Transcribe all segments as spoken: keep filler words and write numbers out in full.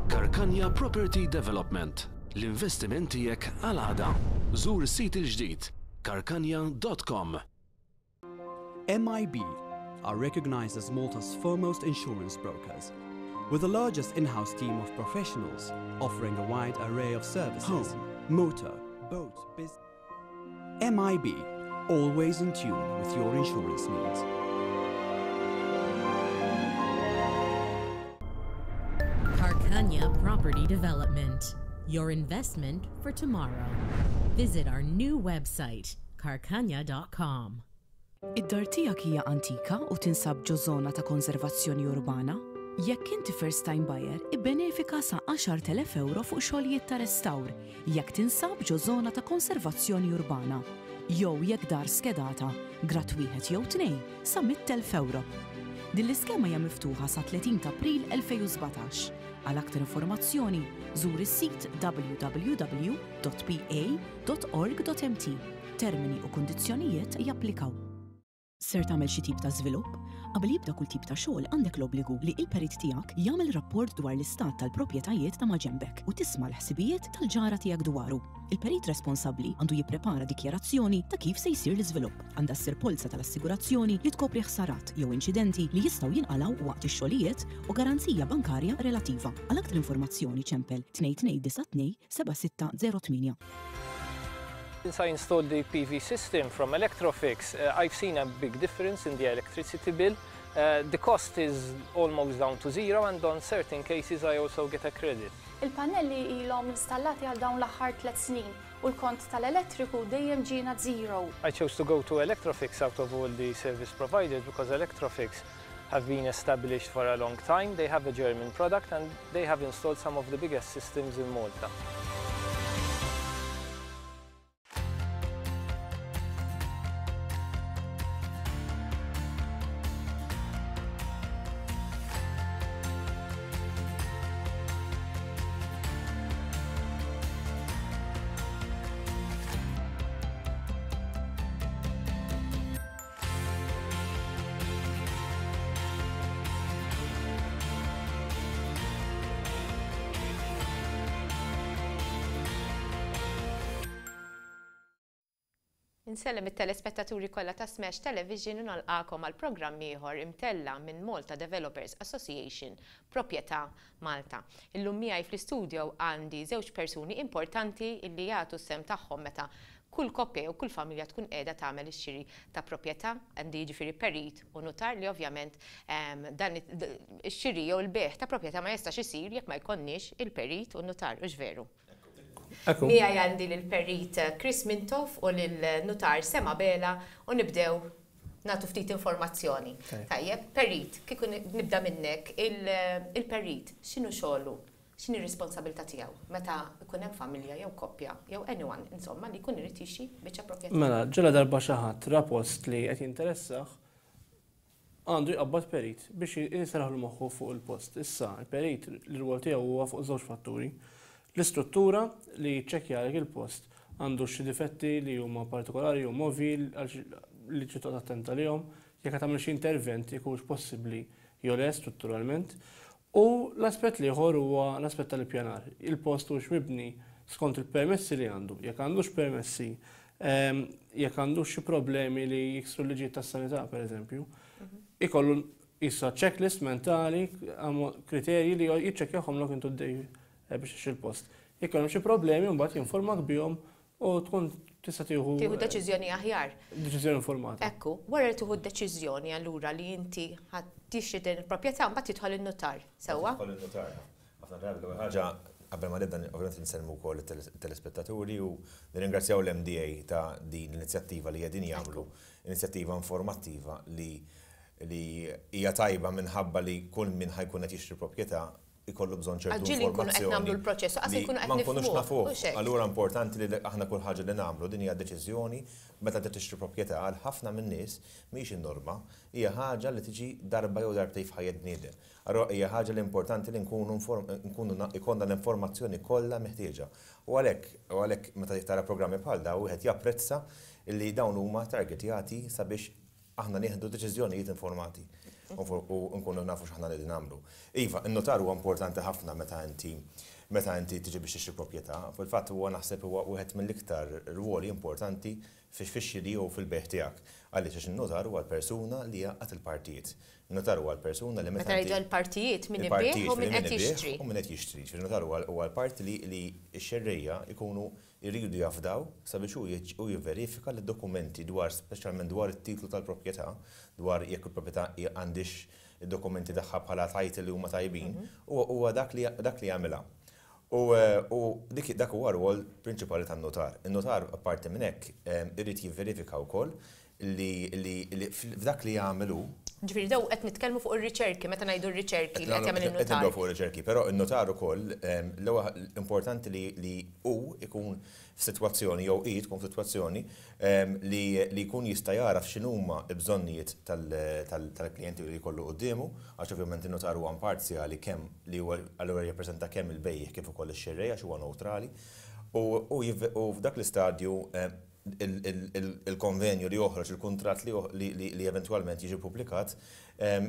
Karkanja Property Development. L-investiment tiegħek għal għada. Żur is-sit il-ġdid karkanja dot com. M I B are recognized as Malta's foremost insurance brokers, with the largest in-house team of professionals offering a wide array of services: home, motor, boat, business. M I B, always in tune with your insurance needs. Karkanja Property Development, your investment for tomorrow. Visit our new website, karkanja dot com. Id-dar tiegħek hija antika u tinsab ġo żona ta' konservazzjoni urbana? Jekk inti first time buyer, ibbenefika sa għaxart elef euro fuq xogħlijiet ta' restawr jekk tinsab ġo żona ta' konservazzjoni urbana. Jew jekk dar skedata, grad wieħed jew tnejn, sa mitt elf euro. Din l-iskema hija miftuħa sa tletin ta' April elfejn u sbatax. Għal aktar informazzjoni, żur is-sit w w w punt p a punt org punt m t. Termini u kundizzjonijiet japplikaw. Ser tagħmel xi tip ta' żvilupp? Qabel jibda kull tip ta' xogħol, għandek l-obbligu li il-perit tiegħek jagħmel rapport dwar l-istat tal-proprjetajiet ta' maġenbek u tisma' l-ħsibijiet tal-ġara tiegħek dwaru. Il-perit responsabbli għandu jipprepara dikjarazzjoni ta' kif se jsir l-iżvilupp. Għandha ssir polza tal-assigurazzjoni li tkopri ħsarat jew inċidenti li jistgħu jinqalgħu waqt ix-xogħlijiet u garanzija bankarja relattiva. Għal aktar informazzjoni ċempel tnejn tnejn disa' tnejn seba' sitta żero tmienja. Since I installed the P V system from Electrofix, uh, I've seen a big difference in the electricity bill. Uh, the cost is almost down to zero, and on certain cases I also get a credit. Il-pannelli ilhom installati għal dawn l-aħħar tliet snin u l-kont tal-elettriku dejjem ġiena zero. I chose to go to Electrofix out of all the service providers because Electrofix have been established for a long time. They have a German product and they have installed some of the biggest systems in Malta. Insellem it-telespettaturi kollha ta' Smash Television u nilqagħkom għal programm ieħor imtella minn Malta Developers Association, Proprjetà Malta. Illum miegħi fl-istudio għandi żewġ persuni importanti illi jagħtu s-sehem tagħhom meta kull koppja jew kull familja tkun qiegħda tagħmel ix-xiri ta' proprjetà, għandi jiġifieri perit u nutar li ovvjament ehm, dan ix-xiri jew il-bejgħ ta' proprjetà ma jistax isir jekk ma jkollniex il-perit u nutar, hux veru? Miegħi għandi l-perit Chris Mintoff u l-nutar Sema Bela u nibdew nagħtu ftit informazzjoni. Tajjeb, perit, kieku nibda minnek, il-perit, x'inhu xogħlu? X'inhi r-responsabilità tiegħu meta jkun hemm familja jew koppja jew anyone insomma li jkun irid jixtri biċċa proprjetà? Mela, ġela darba xi ħadd ra post li qed jinteressah, għandu jqabbad perit biex jisraħlu moħħu fuq il-post. Issa, il-perit l-rwol tiegħu huwa fuq żewġ fatturi. L-istruttura, li jiċċekkja il-post għandu xi difetti li huma partikolari u movi li trid toqgħod attenta lihom, jekk tagħmel xi intervent jekk possibbli jew le strutturalment. U l-aspett l-ieħor huwa l-aspett tal-ippjanar. Il-post hux mibni skont il-permessi li għandu, jekk għandux permessi, ehm, jekk għandux xi problemi li jiksru l-liġijiet tas-sanità, pereżempju. Mhm. Ikollu issa checklist mentali, kriterji li jiċċekkjahom lok intu d eh, biex il-post. Jekk hemm xi problemi, mbagħad jinformak bihom u tkun tista' tieħu Tieħu deċiżjoni aħjar. Deċiżjoni informata. Ekku, wara li tieħu deċiżjoni allura li inti ħa tixtri din il-proprjetà, mbagħad tidħol in-nutar, sewwa? Tidħol in-nutar. Ħafna drabi l-ewwel ħaġa, qabel ma nibda, ovvjament insellmu wkoll it-telespettaturi u nirringrazzjaw l-M D A ta' din l-inizjattiva li qegħdin jagħmlu, inizjattiva informattiva li li hija tajba minħabba li kull min ħa jkun qed jixtri proprjetà ikollu bżonn ċertu Ġieli nkunu qed nagħmlu l-proċess, qas li nkunu qed ma nkunux nifhmuh, nafuh. hux hekk? Allura importanti li aħna kull ħaġa li nagħmlu, din hija deċiżjoni meta inti tixtri proprjetà, għal ħafna min-nies mhix in-norma, hija ħaġa li tiġi darba jew darbtejn f'ħajjet bniedem. Allura hija ħaġa li importanti li nkunu inform- nkunu na- ikollna l-informazzjoni kollha meħtieġa. U għalhekk u għalhekk meta tara programmi bħal dawn, wieħed japprezza li dawn huma targetjati sabiex aħna nieħdu deċiżjonijiet informati. U nkunu nafu x'aħna li nagħmlu. Iva, in-notar huwa importanti ħafna meta inti meta inti tiġi biex tixtri proprjetà. Fil-fatt huwa naħseb huwa wieħed mill-iktar rwoli importanti fix-xiri u fil-bejgħ tiegħek. Għaliex għax in-notar huwa l-persuna li jgħaqqad il-partijiet. In-notar huwa l-persuna li meta jgħidu l-partijiet min ibigħ u min qed jixtri. U min qed jixtri. Ġifieri notar huwa l-parti li x-xerrejja jkunu jridu jafdaw sabiex hu jivverifika li d-dokumenti dwar, speċjalment dwar it-titlu tal-proprjetà, dwar jekk il-proprjetà għandix id-dokumenti tagħha bħala title li huma tajbin, huwa dak li jagħmilha. U dik dak huwa rwol prinċipali tan-notar. In-notar apparti minn hekk irid jivverifika wkoll li f'dak li jagħmlu. Ġifieri daw qed nitkellmu fuq ir-riċerki, meta ngħidu r-riċerki li qed jagħmel in-notar. Qed nibdew fuq ir-riċerki, però n-notar ukoll l-ewwel importanti li hu ikun f'sitwazzjoni jew hi tkun f'sitwazzjoni li jkun jista' jaraf x'inhuma l-bżonnijiet tal-klijenti li jkollu quddiemu, għax ovvjament in-notar huwa imparzjali kemm li huwa allura jirrappreżenta kemm il-bejjiegħ kif ukoll ix-xerrej għax huwa neutrali. U f'dak l-istadju il-konvenju li joħroġ, il-kuntratt li eventwalment jiġi publikat,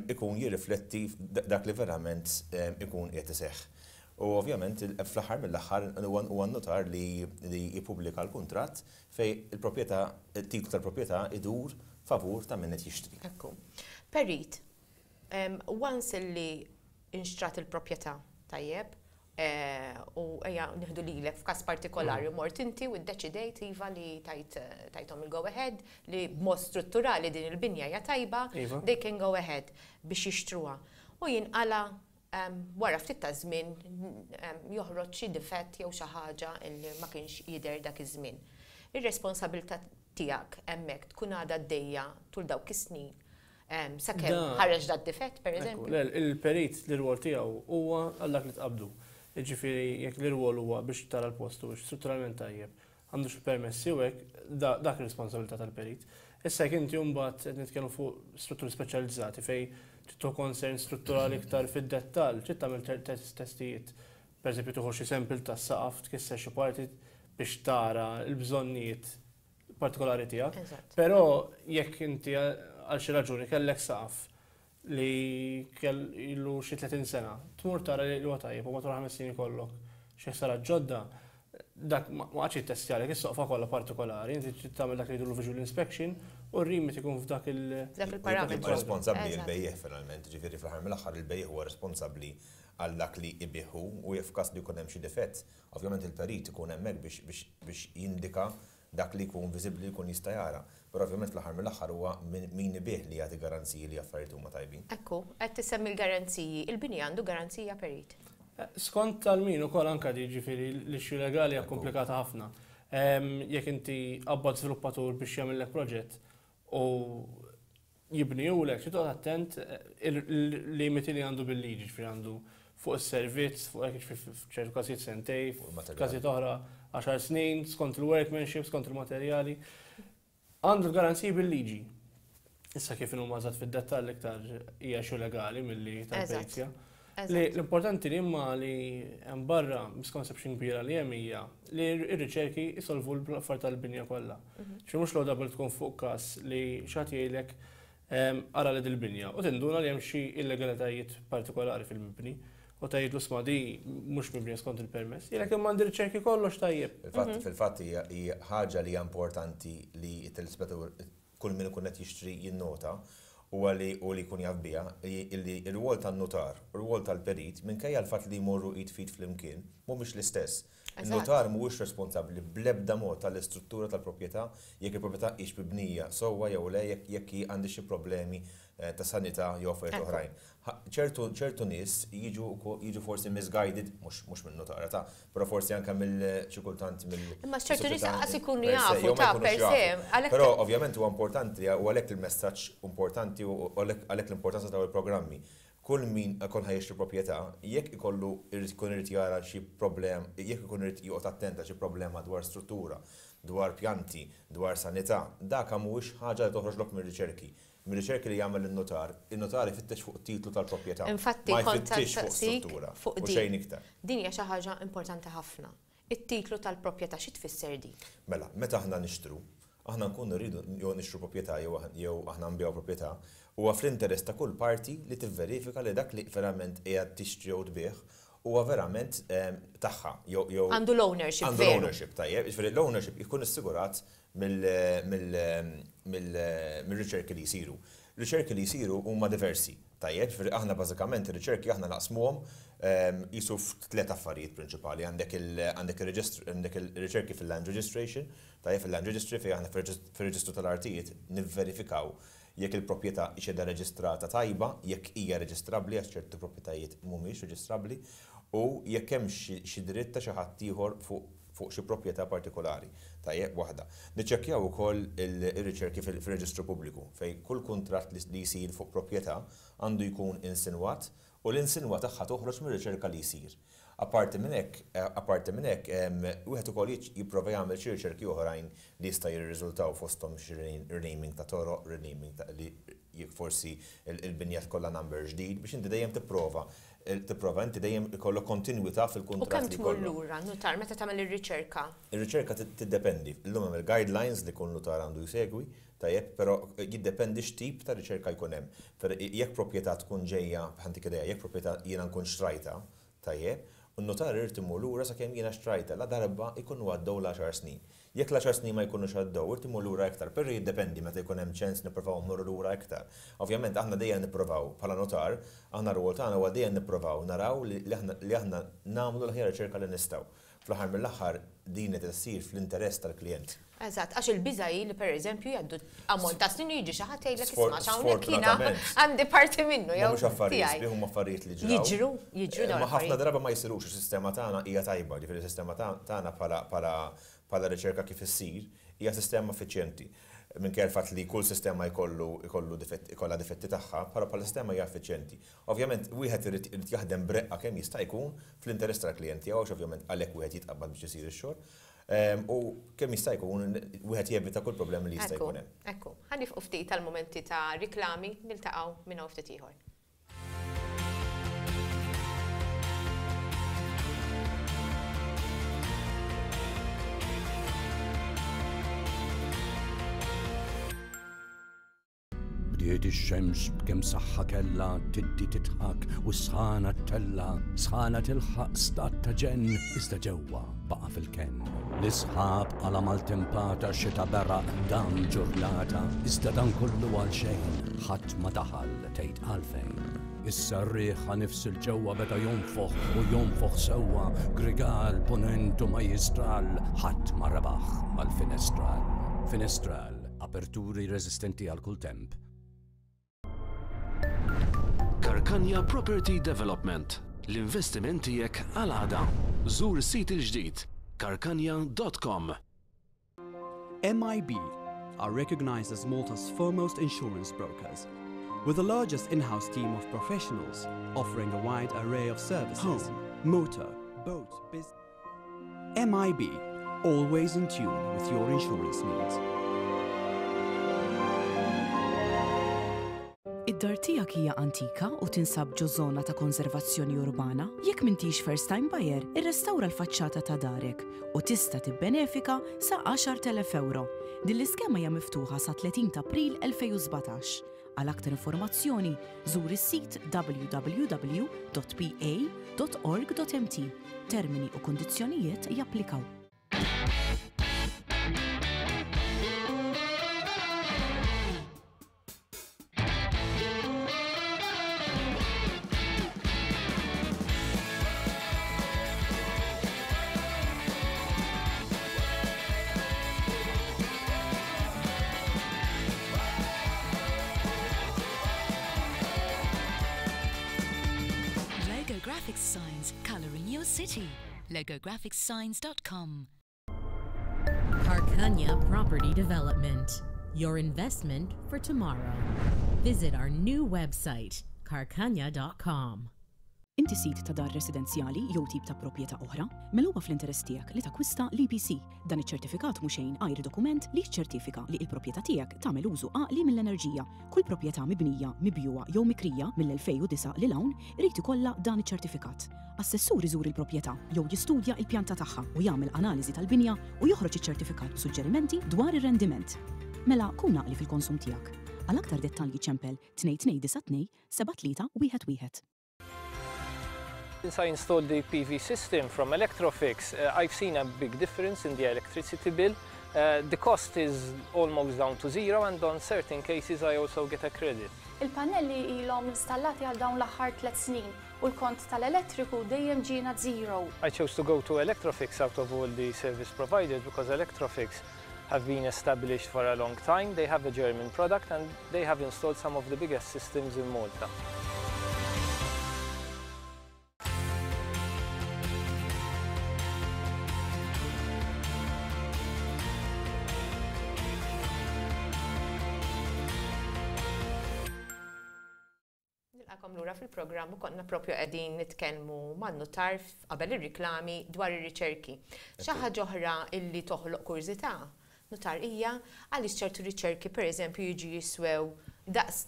ikun jirrifletti dak li verament ikun qed iseħħ. U ovvjament fl-aħħar mill-aħħar huwa n-notar li jippubblika l-kuntratt fejn il-proprjetà, il-titlu tal-proprjetà idur favur ta' min qed jixtri. Ekku. Perit, once li inxtrat il-proprjetà tajjeb, u ejja nieħdu lilek f'każ partikolari mort inti u ddeċidejt iva li tajthom il-go ahead li b'mod strutturali din il-binja hija tajba, they can go ahead biex jixtruha. U jinqala wara ftit ta' żmien joħroġ xi difett jew xi ħaġa li ma kienx jidher dak iż-żmien. Ir-responsabilità tiegħek hemmhekk tkun għadha għaddejja tul dawk is-snin sakemm ħareġ dat difett pereżempju. Il-perit l-rwol tiegħu huwa għal dak li tqabdu. Ġifieri jekk l-irwol huwa biex tara l-post u strutturalment tajjeb, għandux il-permessi u hekk, dak ir-responsabilità tal-perit. Issa jekk inti mbagħad qed nitkellmu fuq strutturi speċjalizzati fejn tittu concern strutturali iktar fid-dettall, trid tagħmel testijiet. Pereżempju tieħu xi sample tas-saqaf, tkisser xi parti biex tara l-bżonnijiet partikolari tiegħek. Però jekk inti għal xi raġuni kellek saqaf li kellu xi tletin sena, tmur tara li huwa tajjeb u matul ħames snin ikollok xi ħsara ġodda, dak ma qagħadx jittestjalek is-soqfa kollha partikolari, inti trid tagħmel dak li jgħidulu visual inspection u r-rimit ikun f'dak il- Dak il-parametru. Responsabbli l-bejjiegħ finalment, ġifieri fl-aħħar mill-aħħar il-bejjiegħ huwa responsabbli għal dak li jbigħ u f'każ li jkun hemm xi difett, ovvjament il-perit ikun hemmhekk biex jindika dak li jkun viżibbli jkun jista' jara. Però ovvjament fl-aħħar mill-aħħar huwa min ibigħ li jagħti garanziji li affarijiet huma tajbin. Ekku, qed tissemmi l-garanziji, il-bini għandu garanzija perit. Skont tal-min ukoll anke jiġifieri l-issue legali hija komplikata ħafna. Jekk inti qabbad żviluppatur biex jagħmellek proġett u jibnihulek, trid toqgħod attent il-limiti li għandu bil-liġi, ġifieri għandu fuq is-servizz, fuq hekk f'ċertu każijiet sentej, f'każijiet oħra għaxar snin, skont il-workmanship, skont il-materjali. Għandu l-garanziji bil-liġi. Issa kif inhuma eżatt fid-dettall iktar hija xi legali milli tal-perizja. L-importanti li imma li hemm barra misconception kbira li hemm hija li r-riċerki jsolvu l-affarijiet tal-binja kollha. Xi mhux l-għoda tkun fuq każ li xi ħadd jgħidlek ara li dil-binja u tinduna li hemm xi illegalitajiet partikolari fil-mibni. U tgħidlu sma di mhux mibnija skont il-permess. Jgħidlek imma għandi riċerki kollox tajjeb. Fil-fatt hija ħaġa li hija importanti li t-telespettur kull min ikun qed jixtri jinnota huwa li u li jkun jaf biha li r-rwol tan-notar u r-rwol tal-perit minkejja l-fatt li jmorru id f'id flimkien mhumiex l-istess. Il-notar mhuwiex responsabbli bl-ebda mod tal-istruttura tal-proprjetà jekk il-proprjetà hix mibnija sewwa jew le jekk hi għandi xi problemi ta' sanità jew affarijiet oħrajn. Ċertu ċertu nies jiġu jiġu forsi misguided, mhux minn notara ta' però forsi anke mill xi kultant mill. Imma ċertu nies qas ikunu jafu ta' per se. Però ovvjament huwa importanti u għalhekk il-messaġġ importanti u għalhekk l-importanza ta' il-programmi. Kull min ikun ħa jixtri proprjetà, jekk ikollu ikun irid jara xi problem, jekk ikun irid joqgħod attent għal xi problema dwar struttura, dwar pjanti, dwar sanità, dak mhuwiex ħaġa li toħroġlok mir-riċerki. Mir-riċerki li jagħmel in-notar, in-notar ifittex fuq titlu tal-proprjetà. Infatti, ma jfittix fuq struttura u xejn iktar. Din hija xi ħaġa importanti ħafna. It-titlu tal-proprjetà xi tfisser di? Mela, meta aħna nixtru, Aħna nkunu rridu jew nixtru proprjetà jew aħna nbigħu proprjetà, huwa fl-interess ta' kull parti li tivverifika li dak li verament qiegħed tixtri jew tbigħ huwa verament tagħha jew għandu l-ownership. Għandu l-ownership, tajjeb, jiġifieri l-ownership jkun assigurat mill-riċerki li jsiru. Riċerki li jsiru huma diversi, tajjeb, jiġifieri aħna bażikament ir-riċerki aħna naqsmuhom jisu f'tliet affarijiet prinċipali. Għandek il-riċerki fil-land registration, tajjeb, fil-land registry fejn aħna fir-reġistru tal-artijiet nivverifikaw jekk il-proprjetà qiegħda reġistrata tajba, jekk hija reġistrabbli, għax ċertu proprjetajiet mhumiex reġistrabbli, u jekk hemm xi dritt ta' xi ħadd ieħor fuq xi proprjetà partikolari. Tajjeb, waħda. Niċċekkjaw ukoll ir-riċerki fil-reġistru pubbliku fejn kull kuntratt li jsir fuq proprjetà għandu jkun insinwat u l-insinwa tagħha toħroġ mir-riċerka li jsir. Apparti minn hekk, apparti minn hekk, wieħed ukoll jipprova jagħmel xi riċerki oħrajn li jista' jirriżultaw fosthom xi renaming ta' toroq, renaming ta' li forsi il-binja tkollha number ġdid biex inti dejjem tipprova tipprova inti dejjem ikollok kontinwità fil-kuntratt. U kemm tmur lura notar meta tagħmel ir-riċerka? Ir-riċerka tiddependi. Illum hemm il-guidelines li kull notar għandu jsegwi, tajjeb, però jiddependi x'tip ta' riċerka jkun hemm. Jekk proprjetà tkun ġejja, ħantik idea, jekk proprjetà jiena nkun xtrajta, tajjeb, u n-notar irid imur lura sakemm jiena xtrajta la darba jkunu għaddew l-għaxar snin. Jekk l-għaxar snin ma jkunux għaddew, irid imur lura iktar, però jiddependi meta jkun hemm ċens nippruvaw mmorru lura iktar. Ovvjament aħna dejjem nippruvaw bħala notar, aħna r-rwol tagħna huwa dejjem nippruvaw naraw li aħna nagħmlu l-aħjar riċerka li nistgħu. Fl-aħħar mill-aħħar din qed issir fl-interess tal-klijent. Eżatt, għax il-biża hi li pereżempju jgħaddu ammont ta' snin jiġi xi ħadd jgħidlek isma' hawnhekk jiena għandi parti minnu jew mhux affarijiet sbieħ huma affarijiet li ġraw. Jiġru, jiġru dawn. Ma ħafna darba ma jsirux, is-sistema tagħna hija tajba, ġifieri s-sistema tagħna bħala bħala riċerka kif issir hija sistema effiċjenti. Minkejja l-fatt li kull sistema jkollu jkollu ikollha difetti tagħha, bħala bħala sistema hija effiċjenti. Ovvjament wieħed irid jaħdem breqqa kemm jista' jkun fl-interess tal-klijent tiegħu, għax ovvjament għalhekk wieħed jitqabbad biex isir ix-xogħol. U kemm jista' jkun wieħed jevita kull problemi li jista' jkun hemm. Ekku, ħa nifqu ftit tal-mumenti ta' riklami, niltaqgħu minn hawn ftit ieħor. Bdiet ix-xemx b'kemm saħħa kellha tiddi titħak u sħana ttella, sħana tilħaq stat ta' ġenn, iżda ġewwa baqa' fil-kenn. L-isħab għala maltempata xita beraq dam ġurnata, iżda dan kollu għal xejn, ħadd ma daħal tgħid għalfejn. Issa r-riħ nifs il-ġewwa beda jonfoħ u jonfoħ sewwa, grigal ponent u majjistral, ħadd ma rebaħ mal-finestral. Finestral, aperturi reżistenti għal kull temp. Karkanja Property Development, l-investiment tiegħek għal għada. Żur is-sit il-ġdid karkanja dot com. M I B are recognized as Malta's foremost insurance brokers, with the largest in-house team of professionals offering a wide array of services. Home, motor, boat, business. M I B, always in tune with your insurance needs. Id-dar tiegħek hija antika u tinsab ġo żona ta' konservazzjoni urbana? Jekk m'intix first time buyer, irrestawra l-faċċata ta' darek u tista' tibbenefika sa għaxar elef euro. Din l-iskema hija miftuħa sa tletin ta' April elfejn u sbatax. Għal aktar informazzjoni, żur is-sit w w w dot p a dot org dot m t. Termini u kundizzjonijiet japplikaw. Signs, coloring your city. Logo graphics signs dot com. Karkanja Property Development, your investment for tomorrow. Visit our new website, karkanja dot com. Inti sid ta' dar residenzjali jew tip ta' proprjetà oħra, mela huwa fl-interess tiegħek li takwista l-E P C. Dan iċ-ċertifikat mhu xejn għajr dokument li jiċċertifika li l-proprjetà tiegħek tagħmel użu għaqli mill-enerġija. Kull proprjetà mibnija, mibjugħa jew mikrija mill-elfejn u disgħa lil hawn irid ikollha dan iċ-ċertifikat. Assessur iżur il-proprjetà jew jistudja il-pjanta tagħha u jagħmel analiżi tal-binja u joħroġ iċ-ċertifikat b'suġġerimenti dwar ir-rendiment. Mela kun għaqli fil-konsum tiegħek. Għal aktar dettalji ċempel tnejn tnejn disa' tnejn seba' tlieta wieħed wieħed. Since I installed the P V system from Electrofix, uh, I've seen a big difference in the electricity bill. Uh, the cost is almost down to zero, and on certain cases I also get a credit. Il-pannelli ilhom installati għal dawn l-aħħar tliet snin u l-kont tal-elettriku dejjem ġiena zero. I chose to go to Electrofix out of all the service providers because Electrofix have been established for a long time. They have a German product and they have installed some of the biggest systems in Malta. Nilqagħkom lura fil-programm u konna propju qegħdin nitkellmu man-nutar qabel ir-riklami dwar ir-riċerki. Xi ħaġa oħra illi toħloq kurżità, nutar, hija għaliex ċertu riċerki, pereżempju, jiġu jiswew daqs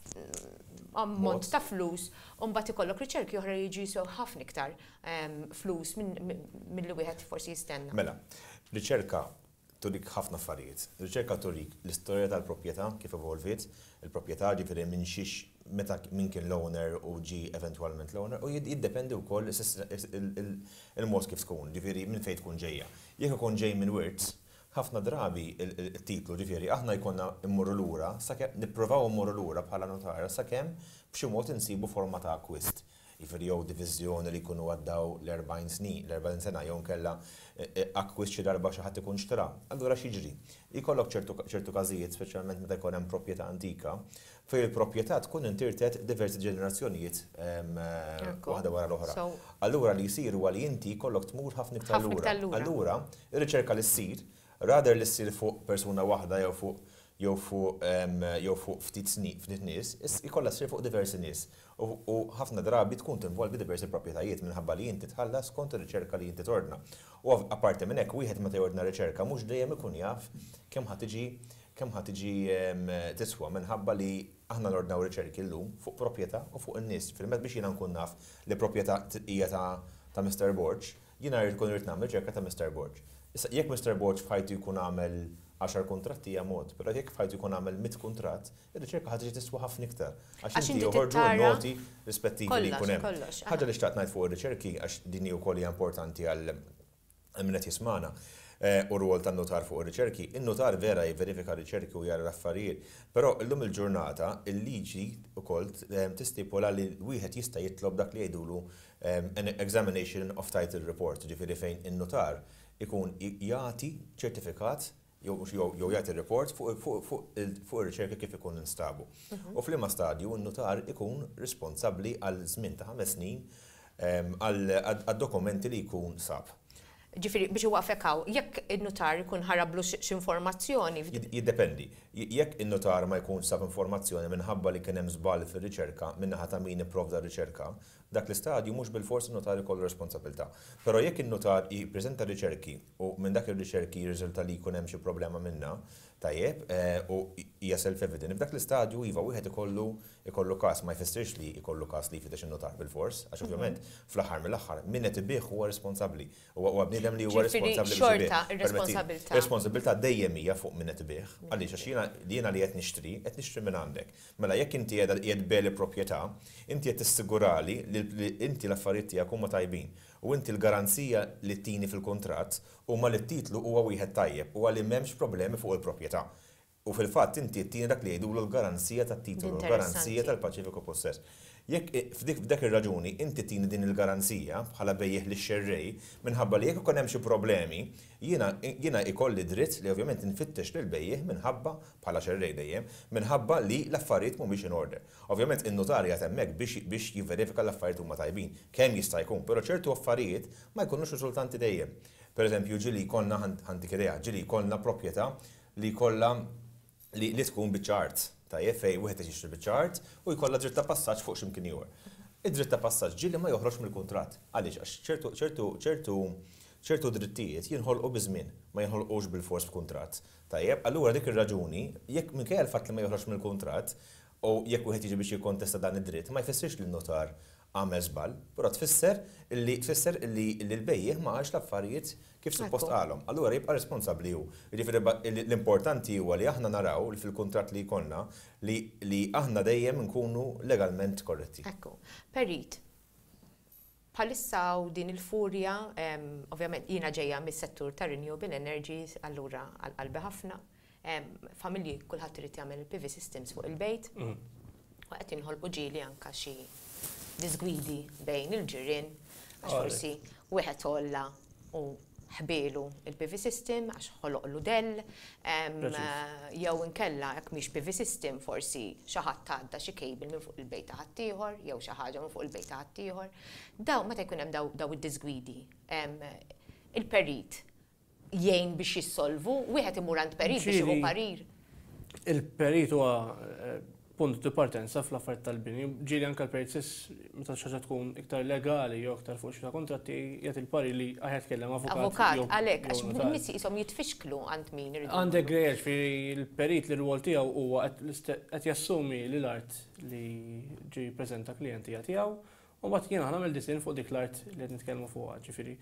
ammont ta' flus u mbagħad ikollok riċerki oħra jiġu jiswew ħafna iktar em, flus milli wieħed forsi jistenna. Mela, riċerka turik ħafna affarijiet. Riċerka turik l-istorja tal-proprjetà, kif evolviet il-proprjetà, ġifieri minn xiex, meta, min kien l-owner u ġi eventwalment l-owner, u jiddependi wkoll il-mod kif tkun, ġifieri minn fejn tkun ġejja. Jekk ikun ġej minn wirt, ħafna drabi il-titlu, ġifieri aħna jkollna immorru lura, sakemm nippruvaw immorru lura bħala notara sakemm b'xi mod insibu forma ta' akkwist. Jiġifieri jew diviżjoni li jkunu għaddaw l-erbgħin snin, l-erbgħin sena, jew nkella eh, eh, akkwist xi darba xi ħadd ikun xtra. Allura x'jiġri? Jkollok ċertu każijiet, speċjalment meta jkun hemm proprjetà antika, fejn il-proprjetà tkun intirtet diversi ġenerazzjonijiet eh, waħda wara l-oħra. Allura li jsir huwa li inti jkollok tmur ħafna iktar lura. Allura, ir-riċerka li ssir, rather li ssir fuq persuna waħda jew fuq jew fuq jew fuq ftit ftit nies, ikollha ssir fuq diversi nies. U ħafna drabi tkun tinvolvi diversi proprjetajiet minħabba li inti tħallas kont ir-riċerka li inti tordna. U apparti minn hekk, wieħed meta jordna riċerka mhux dejjem ikun jaf kemm ħa tiġi kemm ħa tiġi tiswa, minħabba li aħna nordnaw riċerki llum fuq proprjetà u fuq in-nies. Fil-met biex jiena nkun naf li proprjetà hija ta' ta' Mister Borg, jiena rrid kun irid nagħmel riċerka ta' Mister Borg. Issa, jekk Mister Borg f'ħajtu jkun għamel għaxar kontratti hija mod, però jekk f'ħajtu jkun għamel mitt kuntratt, ir-riċerka ħa tiġi tiswa ħafna iktar. Għax inti joħorġu noti rispettivi li jkun hemm. Ħaġa li xtaqt ngħid fuq ir-riċerki, għax din hi wkoll hija importanti għal min qed jismana, eh, u rwol tan-notar fuq ir-riċerki. In-notar vera jivverifika riċerki u jara l-affarijiet, però illum il-ġurnata il-liġi wkoll eh, tistipula li wieħed jista' jitlob dak li jgħidulu eh, an examination of title report, ġifieri fejn in-notar ikun jagħti ċertifikat jew jagħti report fuq ir-riċerka kif ikun instabu. Mhm. U f'liema stadju n-notar ikun responsabbli għal żmien ta' ħames snin għad-dokumenti li jkun sab. Ġifieri, biex inwaqqfek hawn, jekk il-notar ikun ħarablu x'informazzjoni. Jiddependi. Jekk il-notar ma jkun sab informazzjoni minħabba li kien hemm żball fir-riċerka min-naħa ta' min ipprovda r-riċerka, dak l-istadju mhux bil-fors il-notar ikollu responsabilità. Però jekk il-notar jippreżenta riċerki u minn dak ir-riċerki jirriżulta li jkun hemm xi problema minnha, tajjeb, eh, u hija self-evident, f'dak l-istadju iva, wieħed ikollu ikollu każ. Ma jfissirx li ikollu każ li jfittex in-notar bil-fors, għax mhm. ovvjament fl-aħħar mill-aħħar min qed ibigħ huwa responsabbli. Huwa bniedem li huwa responsabbli. Xorta ir-responsabilità. Responsabilità dejjem hija fuq min qed ibigħ. Għaliex? Għax jiena jiena li qed nixtri, qed nixtri minn għandek. Mela jekk inti qiegħed tbigħli proprjetà, inti qed tissigurali li inti l-affarijiet tiegħek huma tajbin. U inti l-garanzija li tini fil-kontratt huma li t-titlu huwa wieħed tajjeb u għalli m'hemmx problemi fuq il-proprjetà. U fil-fatt inti tini dak li jgħidulu l-garanzija tat-titolu, l-garanzija tal-paċifiku possess. Jekk f'dik ir-raġuni inti tini din il-garanzija bħala bejjeħ li xerrej, minħabba li jekk ikun hemm xi problemi, jiena jiena ikolli dritt li ovvjament nfittex lil bejjeħ minħabba, bħala xerrej dejjem, minħabba li l-affarijiet mhumiex in order. Ovvjament in-notarja hemmhekk biex biex jivverifika l-affarijiet huma tajbin, kemm jista' jkun, però ċertu affarijiet ma jkunux riżultanti dejjem. Per eżempju, ġieli jkollna, ħa ntik idea, ġieli jkollna proprjetà li jkollha li, li tkun biċċa art. Tajjeb, fejn wieħed jixtri biċċa art u jkollha dritt ta' passaġġ fuq x'imkien ieħor. Id-dritt ta' passaġġ ġieli ma joħroġ mill-kuntratt. Għaliex? Għax ċertu ċertu ċertu ċertu drittijiet jinħolqu biż-żmien, ma jinħolqux bil-fors b'kuntratt. Tajjeb, allura dik ir-raġuni, jekk minkejja l-fatt li ma joħroġ mill-kuntratt, u jekk wieħed jiġi biex jikkontesta dan id-dritt, ma jfissirx li n-notar għamel żball, però tfisser li tfisser li l-bejjiegħ ma qalx l-affarijiet kif suppost qalhom. Allura jibqa' responsabbli hu. Jiġifieri l-importanti huwa li aħna naraw li fil-kuntratt li jkollna li li aħna dejjem nkunu legalment korretti. Ekku. Perit, bħalissa hawn din il-furja, ovvjament jiena ġejja mis-settur ta' renewable energies, allura għal qalbi ħafna. Familji, kulħadd irid jagħmel il-P V systems fuq il-bejt. U qed jinħolqu ġieli anka xi disgwidi bejn il-ġirien, għax forsi wieħed għolla u ħbielu il-P V system għax ħoloqlu dell, jew inkella jekk mhix P V system, forsi xi ħadd għadda xi cable minn fuq il-bejt ta' ħaddieħor jew xi ħaġa minn fuq il-bejt ta' ħaddieħor. Daw meta jkun hemm daw id-disgwidi, il-perit jgħin biex jissolvu, wieħed imur għand perit biex jieħu parir? Il-perit huwa eh, punt di partenza fl-affarijiet tal-bini. Ġieli anke l-perit stess, meta xi ħaġa tkun iktar legali jew iktar fuq xi kontratti, jagħti il-parir li aħjar tkellem avukat. Avukat, għalhekk, għax nies qishom jitfixklu għand min iridu. Għandek grejjeġ fi l-perit li r-rwol tiegħu huwa qed jassumi li l-art li ġi preżenta klijenti tiegħu u mbagħad jiena nagħmel disinn fuq dik l-art li qed nitkellmu fuqha. Ġifieri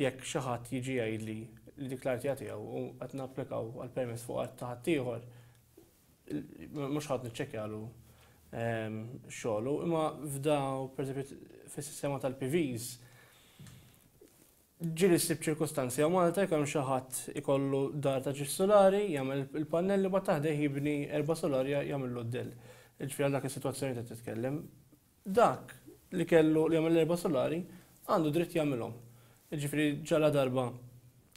jekk xi ħadd jiġi jgħidli li dik l-art tiegħu u qed napplikaw għal permess fuq art ta' ħaddieħor, mhux ħadd niċċekkjalu ehm, xogħlu, imma f'daw, pereżempju, fis-sistema tal-P Vs, ġieli ssib ċirkustanzi hawn Malta jekk hemm xi ħadd ikollu dar ta' ġiex solari, jagħmel il-pannelli, ma taħdeh jibni erba' solari, jagħmel d-dell. Ġifieri għal dak is-sitwazzjoni ta' titkellem. Dak li kellu li jagħmel erba' solari għandu dritt jagħmilhom. Ġifieri ġala darba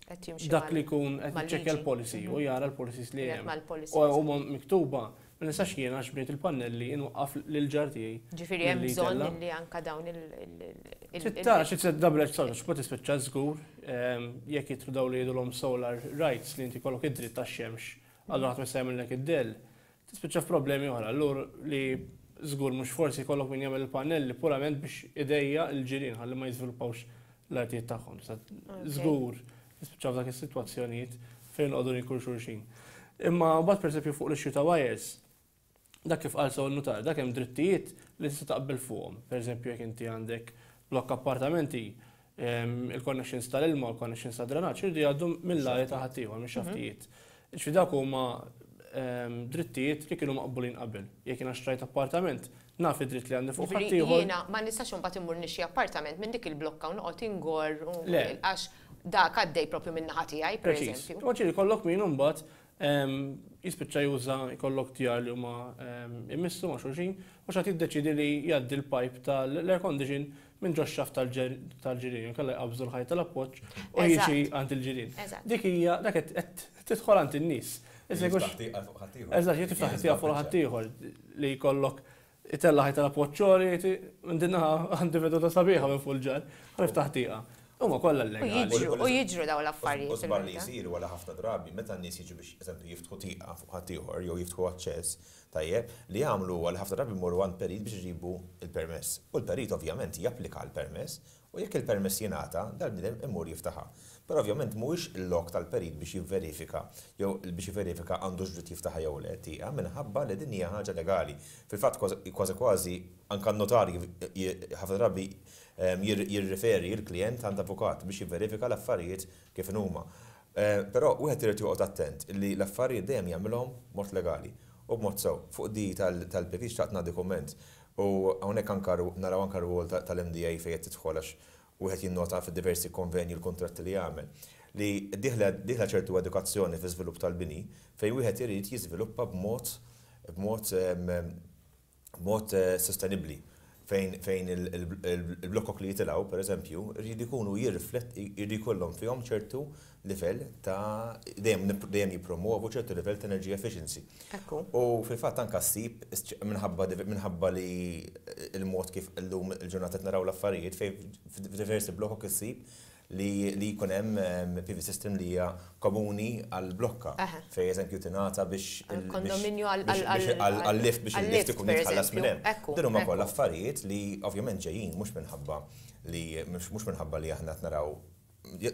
dak li jkun qed jiċċekkja l-policy u jara l-policies li hemm. U huma miktuba, ma nistax jiena għax bnejt il-pannelli inwaqqaf lil ġar tiegħi. Ġifieri hemm bżonn li anka dawn il- Tara xi double edged sword, x'ma tispiċċa żgur ehm, jekk jidħlu dawn li jgħidulhom solar rights, li inti kollok id-dritt tax-xemx, allura ħadd ma jista' jagħmellek id-dell. Tispiċċa f'problemi oħra, allura li żgur mhux forsi jkollok min jagħmel il-pannelli purament biex idejjaq il-ġirien ħalli ma jiżviluppawx l-artijiet tagħhom. Żgur nispiċċaw f'dak is-sitwazzjonijiet fejn noqogħdu nikul xulxin. Imma mbagħad, pereżempju, fuq l-issue ta' wires, dak kif qal sew notar, dak hemm drittijiet li tista' taqbel fuqhom. Pereżempju, jekk inti għandek blokk appartamenti, il-connections tal-ilma u l-connections ta' drenaġġ irridu jgħaddu mill-arja ta' ħaddieħor, mix-xaftijiet. Ġifieri dak huma drittijiet li kienu maqbulin qabel. Jekk jiena xtrajt appartament, naf id-dritt li għandi fuq ħaddieħor. Jiena ma nistax imbagħad immur nixtri appartament minn dik il-blokka u noqgħod ingor għax dak għaddej propju minn naħa tiegħi, per eżempju. Ma ġieli kollok min imbagħad jispiċċa juża, jkollok djar li huma immissu ma' xulxin u xi ħadd jiddeċidi li jgħaddi l-pipe tal-air condition minn ġo xaft tal-ġirien, kalla jqabżu l-ħajt tal-appoġġ u jiġi għand il-ġirien. Dik hija dak qed tidħol għand in-nies. Eżatt, jien tiftaħ tieqa fuq ħaddieħor li jkollok itella ħajt tal-appoġġ minn dinna, għandi veduta sabiħa minn fuq il-ġar, tiftaħ tieqa. Huma kollha legali. U jiġru daw l-affarijiet. U żball li jsiru wara ħafna drabi meta n-nies jiġu biex, eżempju, jiftħu tieqa fuq ħaddieħor jew jiftħu aċċess, tajjeb, li jagħmlu huwa li ħafna drabi jmorru għand perit biex iġibu il-permess. U l-perit ovvjament japplika l-permess u jekk il-permess jingħata, dal-bniedem imur jiftaħha. Però ovvjament mhuwiex il-lok tal-perit biex jivverifika jew biex jivverifika għandux dritt jiftaħha jew le tieqa, minħabba li din hija ħaġa legali. Fil-fatt kważi kważi anke n-notarji ħafna drabi jirriferi il-klient għand avukat biex jivverifika l-affarijiet kif huma. Però wieħed irid joqgħod attent li l-affarijiet dejjem jagħmilhom mod legali u b'mod sew. Fuq di tal-P V xtaqt nagħti kumment u hawnhekk anke naraw anke rwol tal-M D A fejn qed tidħol, għax wieħed jinnota fid-diversi konvenji, l-kontratti li jagħmel, li dieħla ċertu edukazzjoni fi żvilupp tal-bini fejn wieħed irid jiżviluppa b'mod b'mod b'mod sostenibbli, fejn fejn il-blokok li jitilgħu, per eżempju, jridu jkunu jirriflett jridu jkollhom fihom ċertu livell ta' dejjem dejjem jippromovu ċertu livell ta' energy efficiency. U fil-fatt anka ssib minħabba minħabba li il-mod kif illum il-ġurnata naraw l-affarijiet, fejn f'diversi blokok issib li li jkun hemm P V system li hija komuni għal blokka. Fej eżempju tingħata biex kondominju għal-lift biex il-lift ikun jitħallas minn hemm. Din huma kollha affarijiet li ovvjament ġejjin mhux minħabba li mhux minħabba li aħna qed naraw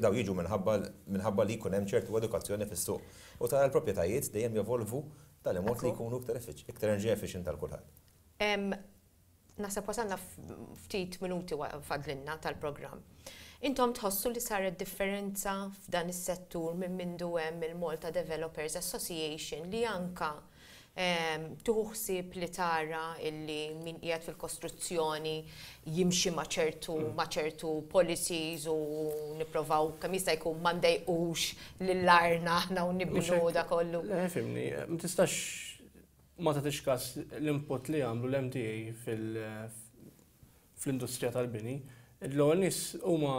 daw jiġu minħabba minħabba li jkun hemm ċertu edukazzjoni fis-suq. U tara l-proprjetajiet dejjem jevolvu tal-mod li jkunu iktar iktar energy efficient tal kulħadd. Naħseb wasalna ftit minuti fadlinna tal-programm. Intom tħossu li saret differenza f'dan is-settur minn mindu hemm il-Malta Developers Association li anka tieħu ħsieb li tara illi min qiegħed fil-kostruzzjoni jimxi ma' ċertu ma' ċertu policies u nipprovaw kemm jista' jkun ma ndejqux lil-arna aħna u nibnu da kollu. Le, fimni, ma tistax ma tagħtix każ l-input li għamlu l-M D A fil-industrija tal-bini. L-ewwel nies huma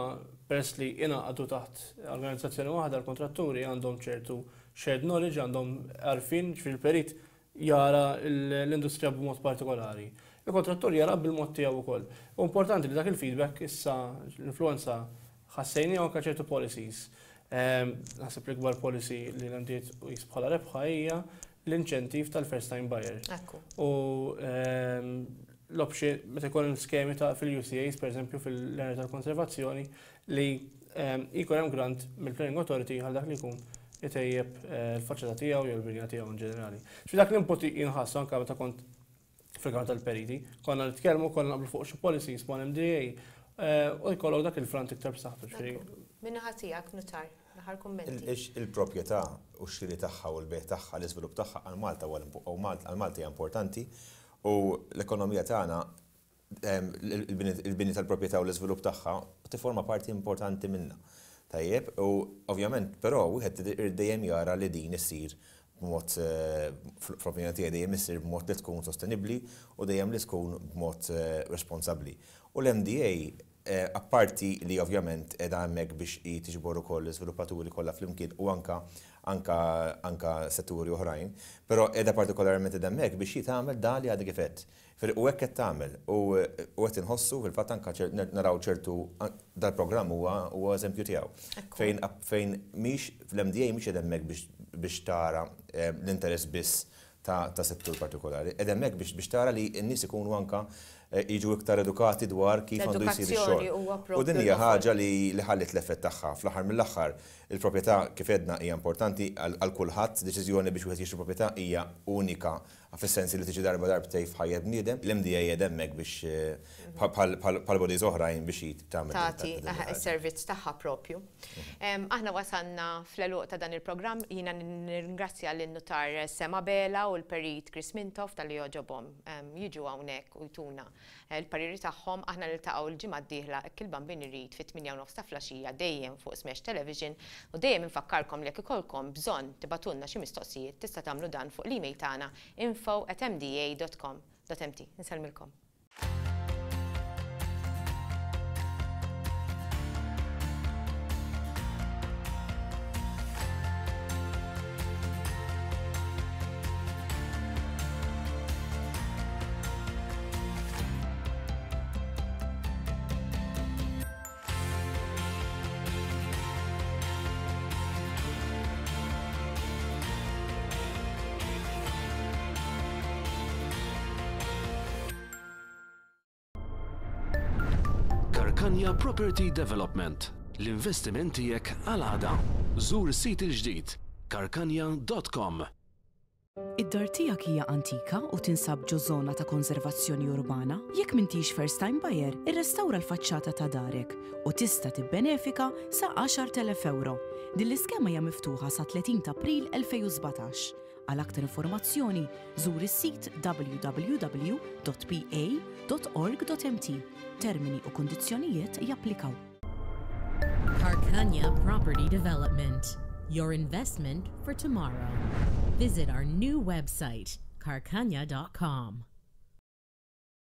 peress li ingħaqdu taħt organizzazzjoni waħda l-kontratturi għandhom ċertu shared knowledge, għandhom għarfien, ġifieri l-perit jara l-industrija b'mod partikolari. Il-kontrattur jara bil-mod tiegħu wkoll. U importanti li dak il-feedback issa l-influenza ħassejni anke ċertu policies. Naħseb l-ikbar policy li l-M D A tqis bħala rebħa hija l-inċentiv tal-first time buyer. U l-option, meta jkun skemi ta' fil-U C As, per eżempju, fil-area tal-konservazzjoni, li jkun hemm grant mill-Planning Authority għal dak li jkun itejjeb l-faċċata tiegħu jew l-binja tiegħu in ġenerali. Xi dak l-input jinħass anke meta kont fil-Kamra tal-Periti, konna nitkellmu, konna naqblu fuq xi policies mal-M D A, u jkollok dak il-front iktar b'saħħtu. Min-naħa tiegħek, Nutar, l-aħħar kummenti. Il-proprjetà u x-xiri tagħha u l-bejgħ tagħha, l-iżvilupp tagħha għal Malta u għal Malta hija importanti u l-ekonomija tagħna, il-bini tal-proprjetà u l-iżvilupp tagħha tiforma parti importanti minnha. Tajjeb, u ovvjament, però wieħed irid dejjem jara li din issir b'mod, fl-opinjoni tiegħi dejjem issir b'mod li tkun sostenibbli u dejjem li tkun b'mod responsabbli. U l-M D A, apparti li ovvjament qiegħda hemmhekk biex hi tiġbor ukoll l-iżviluppaturi kollha flimkien u anka, anka, anka setturi oħrajn, però qiegħda partikolarment qiegħda hemmhekk biex hi tagħmel dan li għadha kif qed. U hekk qed tagħmel u qed inħossu fil-fatt anka naraw ċertu dal-programm huwa huwa eżempju tiegħu. Fejn fejn mhix fl-M D A mhix qiegħda hemmhekk biex, biex tara l-interess biss ta', ta' settur partikolari. Qiegħda hemmhekk biex, biex tara li n-nies ikunu anka jiġu iktar edukati dwar kif għandu jsir ix-xogħol. L-edukazzjoni huwa U din hija propju ħaġa li, li ħallit l-effett tagħha. Fl-aħħar mill-aħħar, il-proprjetà kif edna hija importanti għal, għal kulħadd, deċiżjoni biex wieħed jixtri proprjetà hija unika fis-sens li tiġi darba darbtejn f'ħajja bniedem. L-M D A qiegħed hemmhekk biex, bħal, bħal, bħal bodies oħrajn biex hi tagħmel Tagħti, din aha, il-ħaġa. is-servizz tagħha propju. Em, aħna wasalna fl-għeluq ta' dan il-programm, jiena nirringrazzja lin-nutar Sam Abela u l-perit Chris Mintoff tal-li jogħġobhom, em, jiġu hawnhekk u jtuna l-pariri tagħhom. Aħna niltaqgħu l-ġimgħa d-dieħla hekk il-Bambin irid fit-tmienja u nofs ta' flaxija dejjem fuq Smash Television u dejjem infakkarkom li jekk ikollkom bżonn tibatulna xi mistoqsijiet tista' tagħmlu dan fuq l-email tagħna info at m d a dot com dot m t. Insellmilkom. Karkanja Property Development. L-investiment tiegħek għal għada. Żur is-sit il-ġdid karkanja dot com. Id-dar tiegħek hija antika u tinsab ġo żona ta' konservazzjoni urbana? Jekk m'intix first time buyer, irrestawra l-faċċata ta' darek u tista' tibbenefika sa għaxar telef euro. Din l-iskema hija miftuħa sa tletin ta' April elfejn u sbatax. Għal aktar informazzjoni, żur is-sit w w w dot p a dot org dot m t. Termini u kundizzjonijiet japplikaw. Karkanja Property Development. Your investment for tomorrow. Visit our new website, karkanja dot com.